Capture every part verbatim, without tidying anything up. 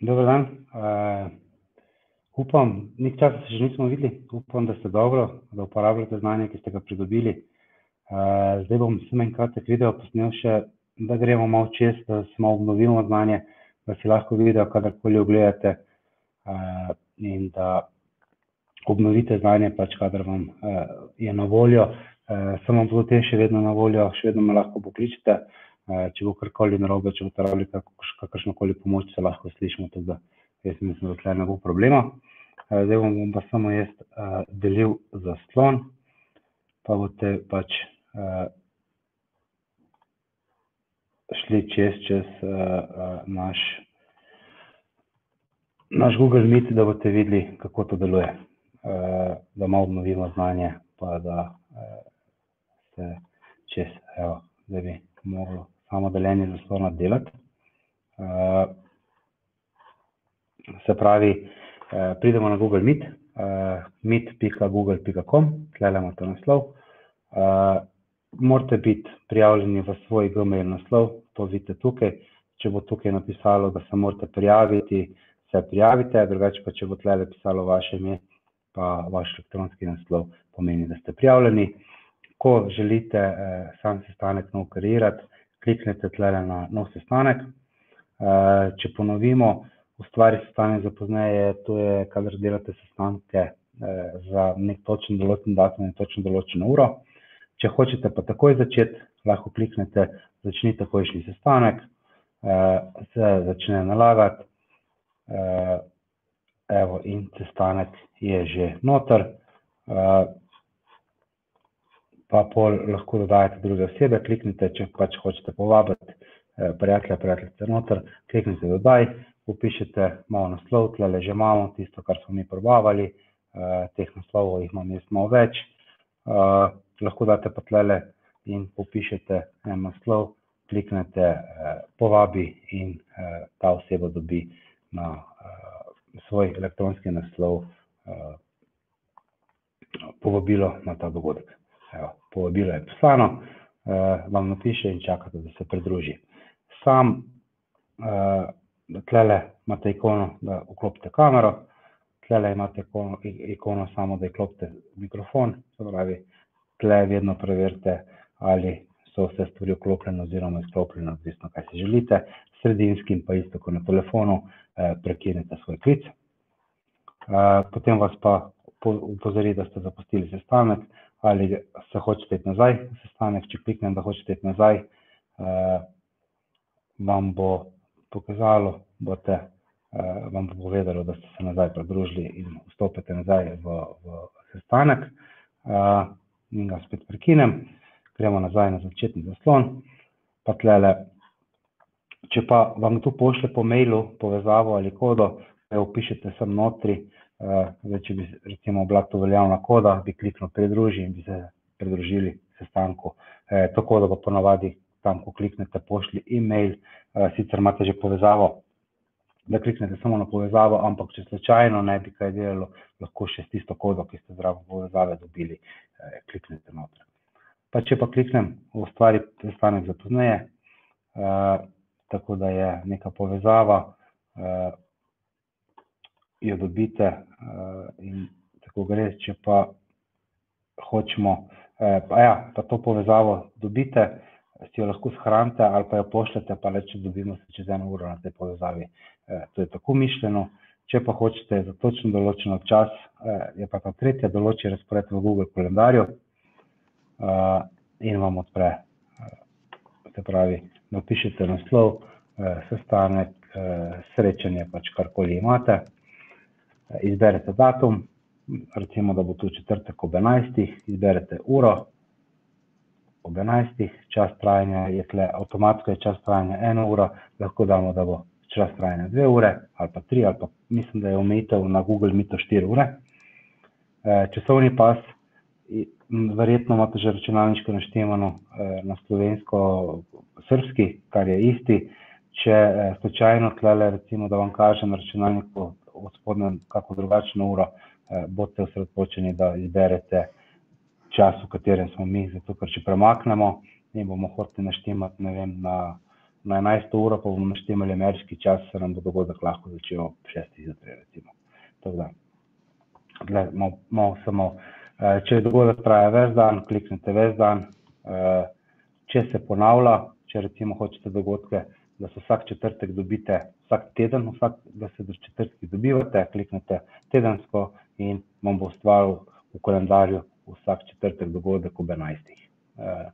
Dober dan. Uh, upam, nek časa se že nismo videli, upam, da ste dobro, da uporabljate znanje, ki ste ga pridobili. Uh, zdaj bom samo en kratek video posnel še, da gremo malo čez, da smo obnovimo znanje, da si lahko video kadarkoli ogledate uh, in da obnovite znanje, pač kadar vam uh, je na voljo. Uh, sem vam potem še vedno na voljo, še vedno me lahko pokličete. Uh, če bo karkoli narobe, če boste rabili kakršnokoli pomoč, se lahko slišimo, tako da jaz mislim, da tle ne bo problema. Uh, zdaj bom pa samo jaz uh, delil zaslon, pa boste pač uh, šli čez, čez uh, uh, naš, naš Google Meet, da boste videli, kako to deluje. Uh, da malo obnovimo znanje, pa da uh, se čez, evo, da bi moglo samo deljenje zaslona delati. Uh, se pravi, uh, pridemo na Google Meet, uh, meet pika google pika com, tlele imate naslov. Uh, morate biti prijavljeni v svoj Gmail naslov, to vidite tukaj. Če bo tukaj napisalo, da se morate prijaviti, se prijavite, drugače pa če bo tlele pisalo vaše ime, pa vaš elektronski naslov, pomeni, da ste prijavljeni. Ko želite eh, sam sestanek nov kreirati, kliknete tlele na nov sestanek. Eh, če ponovimo, ustvari sestanek za pozneje, to je, kadar delate sestanke eh, za nek točen določen datum in točno določeno uro. Če hočete pa takoj začeti, lahko kliknete začni takojšnji sestanek, eh, se začne nalagati, eh, evo in sestanek je že noter. Eh, pa pol lahko dodajate druge osebe, kliknite, če pač hočete povabiti eh, prijatelja, prijateljice noter, kliknite dodaj, upišete malo naslov, tlele že imamo tisto, kar smo mi probavali, eh, teh naslovov jih imam jaz malo več, eh, lahko date pa tlele in upišete en naslov, kliknete eh, povabi in eh, ta oseba dobi na eh, svoj elektronski naslov eh, povabilo na ta dogodek. Evo, povabilo je poslano, eh, vam napiše in čakate, da se pridruži. Sam eh, tlele imate ikono, da vklopite kamero, tlele imate ikono, ikono samo, da vklopite mikrofon, se pravi, tle vedno preverite, ali so vse stvari vklopljene oziroma izklopljene, odvisno kaj si želite. Sredinskim pa isto, ko na telefonu eh, prekinete svoj klic. Eh, potem vas pa upozori, da ste zapustili sestanek, ali se hočete iti nazaj v sestanek. Če kliknem, da hočete iti nazaj, eh, vam bo pokazalo, bote, eh, vam bo povedalo, da ste se nazaj pridružili in vstopite nazaj v, v sestanek. Eh, in ga spet prekinem, gremo nazaj na začetni zaslon, pa tlele, če pa vam tu pošle po mailu povezavo ali kodo, jo upišete sem notri. Uh, zdaj, če bi recimo bila to veljavna koda, bi kliknil pridruži in bi se pridružili sestanku. E, to kodo pa ponavadi tam, ko kliknete, pošli e-mail, uh, sicer imate že povezavo, da kliknete samo na povezavo, ampak če slučajno ne bi kaj delalo, lahko še s tisto kodo, ki ste zraven povezave dobili, eh, kliknete noter. Pa če pa kliknem v ustvari sestanek za pozneje, uh, tako da je neka povezava, uh, jo dobite uh, in tako gre. Če pa hočemo, eh, pa ja, pa to povezavo dobite, si jo lahko shranite ali pa jo pošljete, pa reče, dobimo se čez eno uro na tej povezavi. Eh, to je tako mišljeno. Če pa hočete za točno določeno čas, eh, je pa ta tretja določi razpored v Google kalendarju eh, in vam odpre. Eh, se pravi, napišete naslov, eh, sestanek, eh, srečanje, pač karkoli imate. Izberete datum, recimo, da bo tu četrtek ob enajstih, izberete uro ob enajstih, čas trajanja je tle, avtomatsko je čas trajanja ena ura, lahko damo, da bo čas trajanja dve ure, ali pa tri, ali pa mislim, da je omejitev na Google Meetu štiri ure. E, časovni pas, verjetno imate že računalniško naštemano e, na slovensko-srbski, kar je isti. Če e, slučajno tlele, recimo, da vam kaže na računalniku v spodnjem kako drugačno uro, eh, boste osredotočeni, da izberete čas, v katerem smo mi, zato ker če premaknemo in bomo hoteli naštemati, ne vem, na na enajsto uro pa bomo naštemali ameriški čas, se nam bo dogodek lahko začel ob šestih zjutraj, recimo. Tako da, tle, malo, malo samo, če dogodek traja ves dan, kliknete ves dan, če se ponavlja, če recimo hočete dogodke, da se vsak četrtek dobite, vsak teden, vsak, da se do četrtki dobivate, kliknete tedensko in vam bo ustvaril v kalendarju vsak četrtek dogodek ob enajstih. Eh,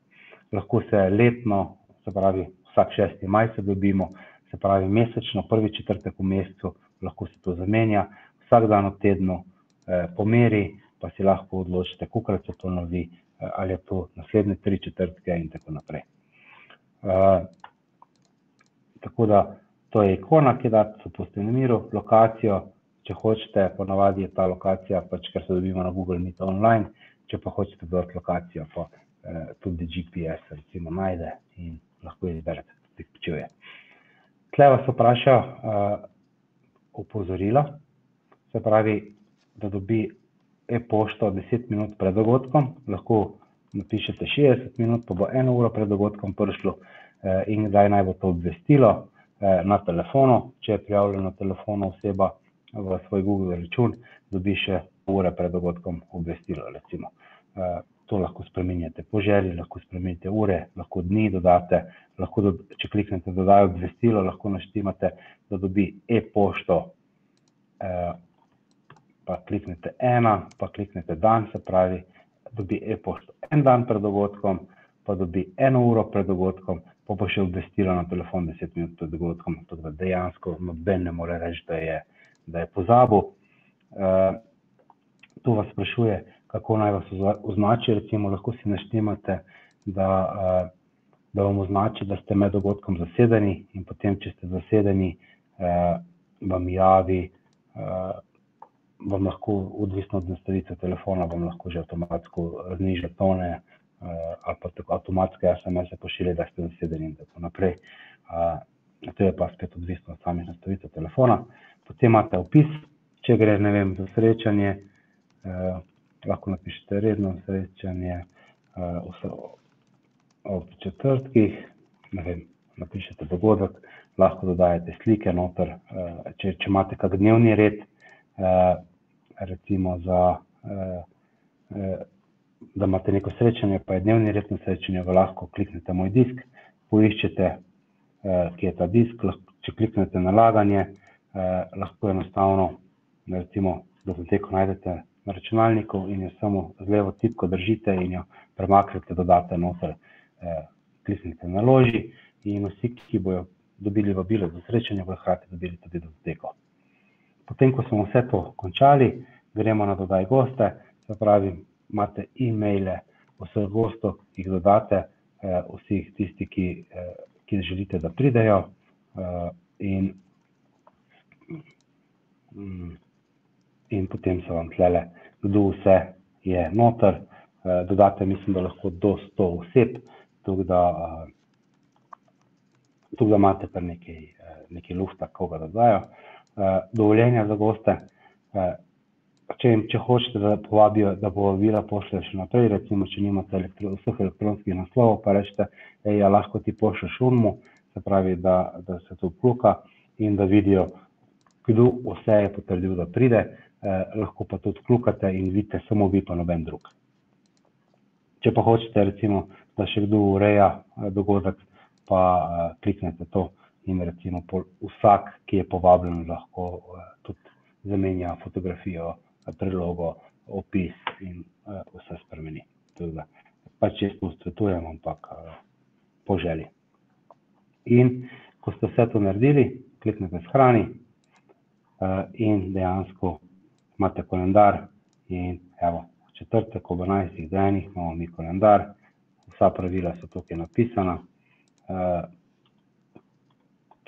lahko se letno, se pravi vsak šesti maj se dobimo, se pravi mesečno, prvi četrtek v mesecu, lahko se to zamenja, vsak dan v tednu eh, pomeri, pa si lahko odločite, kolikokrat se to novi, eh, ali je to naslednje tri četrtke in tako naprej. Eh, tako da, to je ikona, ki da se pusti na miru, lokacijo, če hočete, ponavadi je ta lokacija, pač ker se dobimo na Google Meet online, če pa hočete dodati lokacijo, pa eh, tudi G P S recimo najde in lahko izberete, tudi počuje. Tle vas vpraša uh, opozorila, se pravi, da dobi e-pošto deset minut pred dogodkom, lahko napišete šestdeset minut, pa bo eno uro pred dogodkom prišlo eh, in kdaj naj bo to obvestilo eh, na telefonu, če je prijavljena na telefonu oseba v svoj Google račun, dobi še ure pred dogodkom obvestilo, recimo. Eh, to lahko spreminjate po želji, lahko spreminjate ure, lahko dni dodate, lahko, do, če kliknete dodaj obvestilo, lahko naštimate, da dobi e-pošto, eh, pa kliknete ena, pa kliknete dan, se pravi, dobi e-pošto en dan pred dogodkom, pa dobi eno uro pred dogodkom, pa bo še obvestilo na telefon deset minut pred dogodkom, tako da dejansko noben ne more reči, da je, da je pozabil. Eh, tu vas sprašuje, kako naj vas označi, recimo lahko si naštemate, da, da vam označi, da ste med dogodkom zasedeni in potem, če ste zasedeni, vam javi, vam lahko, odvisno od nastavitve telefona, vam lahko že avtomatsko zniža tone ali pa tako avtomatske es em es-e pošilje, da ste zasedeni in tako naprej. To je pa spet odvisno od samih nastavitev telefona. Potem imate opis, če gre, ne vem, za srečanje, lahko napišete redno srečanje uh, ob četrtkih, ne vem, napišete dogodek, lahko dodajate slike noter, uh, če, če imate kak dnevni red, uh, recimo za, uh, uh, da imate neko srečanje, pa je dnevni red na srečanju, lahko kliknete moj disk, poiščete, uh, kje je ta disk, lahko, če kliknete nalaganje, uh, lahko enostavno, recimo, datoteko najdete na računalniku in jo samo z levo tipko držite in jo premaknete, dodate noter, eh, kliknite naloži in vsi, ki bojo dobili vabilo za srečanje, bojo hkrati dobili tudi datoteko. Potem, ko smo vse to končali, gremo na dodaj goste, se pravi, imate e-maile vseh gostov, ki jih dodate, eh, vsi tisti, ki, eh, ki želite, da pridejo eh, in mm, in potem se vam tlele, kdo vse je noter, dodate, mislim, da lahko do sto oseb, tako da, tako da imate pa nekaj, nekaj lufta, koga dodajo. Dovoljenja za goste, če, če hočete, da povabijo, da povabila pošljajo še naprej, recimo, če nimate elektro, vseh elektronskih naslovov, pa rečete, ej, ja, lahko ti pošlješ unmu, se pravi, da, da se to vkluka in da vidijo, kdo vse je potrdil, da pride, eh, lahko pa tudi vklukate in vidite samo vi pa noben drug. Če pa hočete, recimo, da še kdo ureja eh, dogodek, pa eh, kliknete to in recimo pol, vsak, ki je povabljen, lahko eh, tudi zamenja fotografijo, prilogo, opis in eh, vse spremeni. Tudi da, pač jaz svetujem, ampak eh, po želji. In ko ste vse to naredili, kliknete shrani, in dejansko imate kalendar in evo, v četrtek ob enajstih denih imamo mi kalendar, vsa pravila so tukaj napisana,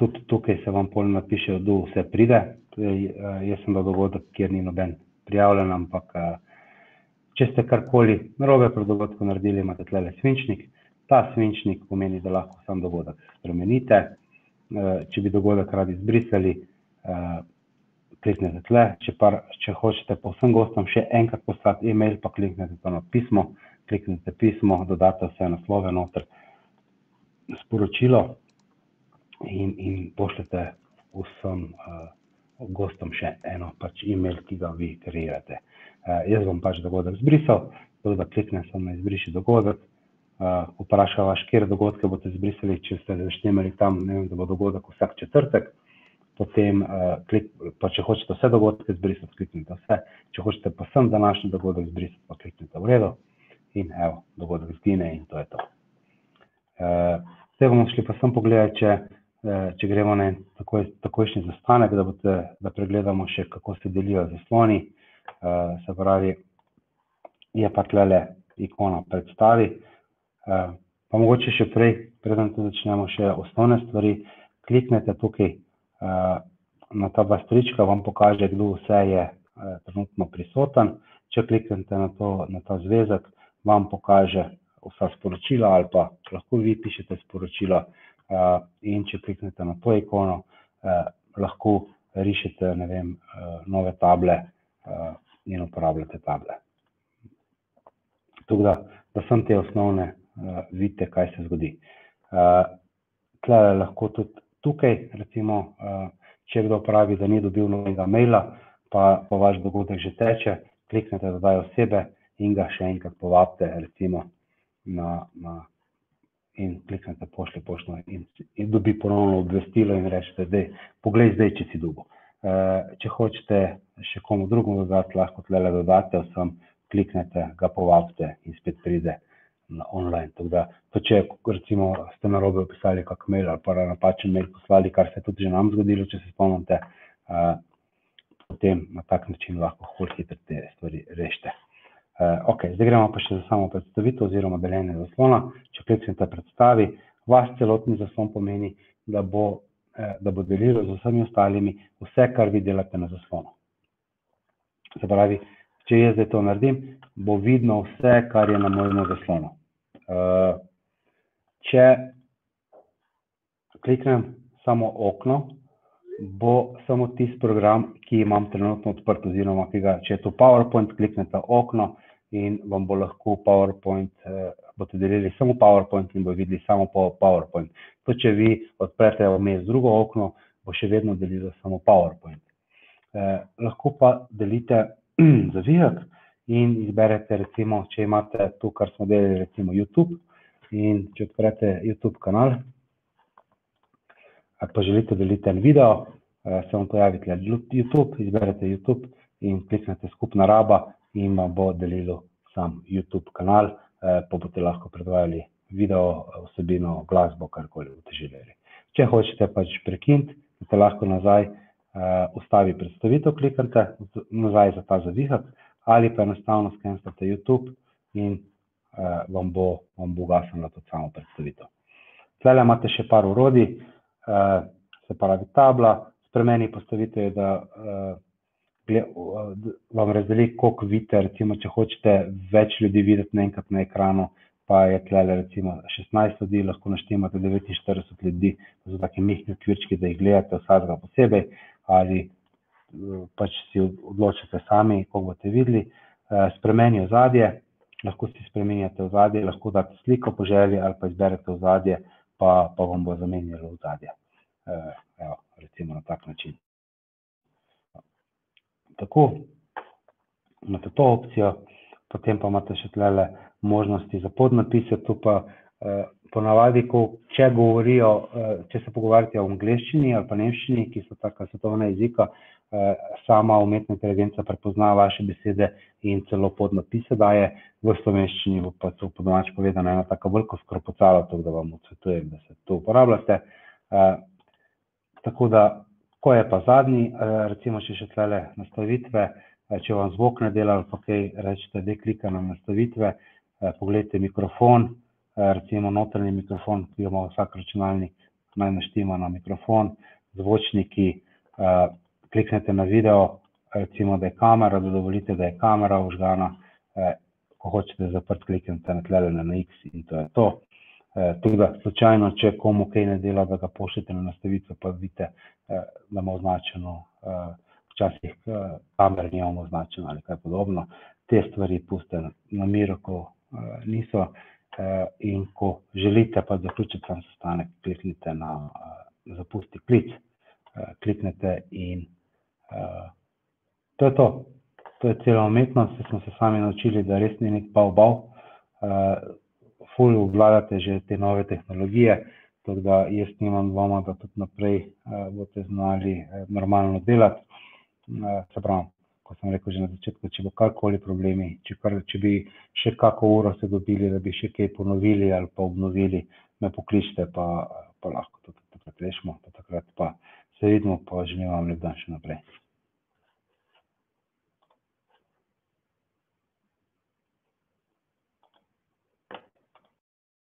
tudi tukaj se vam pol napiše, kdo vse pride, jaz sem dal dogodek, kjer ni noben prijavljen, ampak če ste karkoli narobe pred dogodkom naredili, imate tlele svinčnik, ta svinčnik pomeni, da lahko sam dogodek spremenite, če bi dogodek radi izbrisali, kliknete tle, če, pa, če hočete pa vsem gostom še enkrat poslati e-mail, pa kliknete to na pismo, kliknete pismo, dodate vse naslove noter, sporočilo in, in pošljete vsem uh, gostom še eno pač e-mail, ki ga vi kreirate. Uh, jaz bom pač dogodek zbrisal, tako da kliknem sem na izbriši dogodek, uh, vprašam vas, kjer dogodke boste zbrisali, če ste zaštemali tam, ne vem, da bo dogodek vsak četrtek, potem, uh, klik, pa če hočete vse dogodke zbrisati, kliknite vse, če hočete pa sem današnji dogodek zbrisati, pa kliknite v redu in evo, dogodek zgine in to je to. Uh, zdaj bomo šli pa sem pogledati, če, uh, če gremo na takoj, takojšnji zastanek, da, bote, da pregledamo še, kako se delijo zasloni. Uh, se pravi, je pa tlele ikona predstavi. Uh, pa mogoče še prej, preden to začnemo, še osnovne stvari, kliknete tukaj na ta dva strička, vam pokaže, kdo vse je trenutno prisoten. Če kliknete na, to, na ta zvezek, vam pokaže vsa sporočila ali pa lahko vi pišete sporočila in če kliknete na to ikono, lahko rišete, ne vem, nove table in uporabljate table. Tako da, da sem te osnovne, vidite, kaj se zgodi. Tle lahko tudi tukaj, recimo, če kdo pravi, da ni dobil novega maila, pa, pa vaš dogodek že teče, kliknete dodaj osebe in ga še enkrat povabite, recimo, na, na, in kliknete pošlji poštno in, in dobi ponovno obvestilo in rečete, dej, poglej zdaj, če si dobil. Če hočete še komu drugemu dodati, lahko tlele dodate vsem, kliknete, ga povabite in spet pride na online. Tako da, to če recimo ste narobe opisali kak mail ali pa napačen mail poslali, kar se je tudi že nam zgodilo, če se spomnite, uh, potem na tak način lahko bolj hitro te stvari rešite. Uh, ok, zdaj gremo pa še za samo predstavitev oziroma deljenje zaslona. Če kliknete predstavi, vaš celotni zaslon pomeni, da bo, eh, da bo delilo z vsemi ostalimi vse, kar vi delate na zaslonu. Se pravi, če jaz zdaj to naredim, bo vidno vse, kar je na mojem zaslonu. Uh, če kliknem samo okno, bo samo tisti program, ki imam trenutno odprt, oziroma ki ga, če je to PowerPoint, kliknete okno in vam bo lahko PowerPoint, eh, boste delili samo PowerPoint in bo videli samo PowerPoint. To, če vi odprete vmes drugo okno, bo še vedno delilo samo PowerPoint. Eh, lahko pa delite zavihek in izberete, recimo, če imate to, kar smo delali, recimo YouTube, in če odprete YouTube kanal, ali pa želite deliti en video, eh, se vam pojavi tle YouTube, izberete YouTube in kliknete skupna raba in vam bo delilo sam YouTube kanal, eh, pa boste lahko predvajali video, vsebino, glasbo, karkoli boste želeli. Če hočete pač prekiniti, boste lahko nazaj uh, ustavi predstavitev, kliknete nazaj za ta zavihek, ali pa enostavno skenslate YouTube in uh, vam bo, vam bo ugasnila tudi samo predstavitev. Tlele imate še par orodij, uh, se pravi tabla, spremeni postavitev je, da uh, gled, uh, vam razdeli, koliko vidite, recimo, če hočete več ljudi videti naenkrat na ekranu, pa je tlele recimo šestnajst ljudi, lahko naštemate devetinštirideset ljudi, to so taki mihni okvirčki, da jih gledate vsakega posebej, ali pač si odločite sami, koliko boste videli. Spremeni ozadje, lahko si spremenjate ozadje, lahko date sliko po želji ali pa izberete ozadje, pa, pa vam bo zamenjalo ozadje. Evo, recimo na tak način. Tako, imate to opcijo, potem pa imate še tlele možnosti za podnapise, tu pa eh, ponavadi, ko, če govorijo, eh, če se pogovarjate o angleščini ali pa nemščini, ki so taka svetovna jezika, eh, sama umetna inteligenca prepozna vaše besede in celo podnapise daje, v slovenščini bo pa to po domače povedano ena taka veliko skropocala, tako da vam odsvetujem, da se to uporabljate. Eh, tako da, ko je pa zadnji, eh, recimo še še tlele nastavitve, če vam zvok ne dela ali pa kaj, rečete, da klika na nastavitve, eh, pogledajte mikrofon, eh, recimo notranji mikrofon, ki ima vsak računalnik, naj naštima na mikrofon, zvočniki, eh, kliknete na video, recimo, da je kamera, da dovolite, da je kamera vžgana, eh, ko hočete zaprt, kliknete na tlele na X in to je to. Eh, tudi da, slučajno, če komu kaj ne dela, da ga pošljete na nastavitve, pa vidite, eh, da ima označeno eh, včasih kamer nimamo označeno ali kaj podobno. Te stvari pustite na miru, ko uh, niso uh, in ko želite pa zaključiti sam sestanek, kliknite na, uh, zapusti klic, uh, kliknete in uh, to je to. To je cela umetnost, se smo se sami naučili, da res ni nek bav-bav. Uh, ful obvladate že te nove tehnologije, tako da jaz nimam dvoma, da tudi naprej uh, boste znali uh, normalno delati. Uh, se pravi, ko sem rekel že na začetku, če bo karkoli problemi, če, kar, če bi še kako uro se dobili, da bi še kaj ponovili ali pa obnovili, me pokličite, pa, pa lahko tudi takrat rešimo, pa takrat pa se vidimo, pa želim vam lep dan še naprej.